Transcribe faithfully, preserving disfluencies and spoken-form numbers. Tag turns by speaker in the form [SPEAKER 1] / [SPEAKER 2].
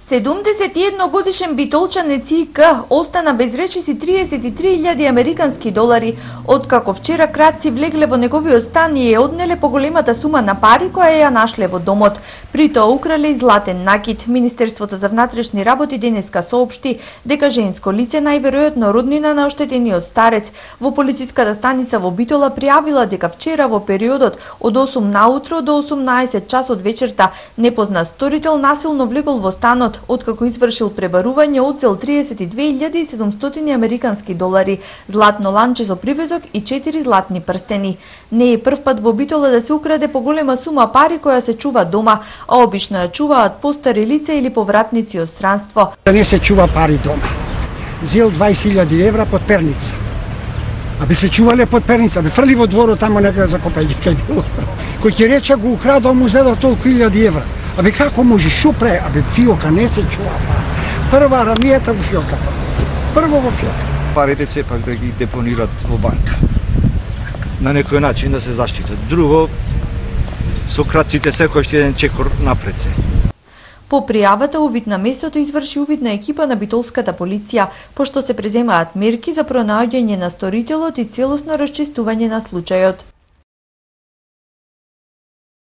[SPEAKER 1] седумдесет и едно годишен битолчанец И К остана без речиси триесет и три илјади американски долари, откако вчера кратци влегле во неговиот стан и ја однеле поголемата сума на пари која ја нашле во домот. При тоа украле и златен накит. Министерството за внатрешни работи денеска соопшти дека женско лице, најверојатно роднина на оштетениот старец, во полициската станица во Битола пријавила дека вчера во периодот од осум наутро до осумнаесет часот вечерта непознат сторител насилно влегол во станот, откако извршил пребарување, одзел триесет и две илјади и седумстотини американски долари, златно ланче со привезок и четири златни прстени. Не е прв пат во Битола да се украде поголема сума пари која се чува дома, а обично ја чуваат постари лица или повратници од странство.
[SPEAKER 2] Не се чува пари дома. Зел дваесет илјади евра под перница. Абе се чувале под перница, абе фрли во дворот тамо некаде за копајќи било. Кој ќе рече го украдал, му зедо толку илјади евра. Абе како може, шо пре? Абе фиока не се чува. Прва рамијата во фиоката. Прво во фиока.
[SPEAKER 3] Парите сепак да ги депонират во банка. На некој начин да се заштитат. Друго, со кратците секој еден чекор напред се.
[SPEAKER 1] По пријавата, увид на местото изврши увид на екипа на битолската полиција, пошто се преземаат мерки за пронаоѓање на сторителот и целосно расчистување на случајот.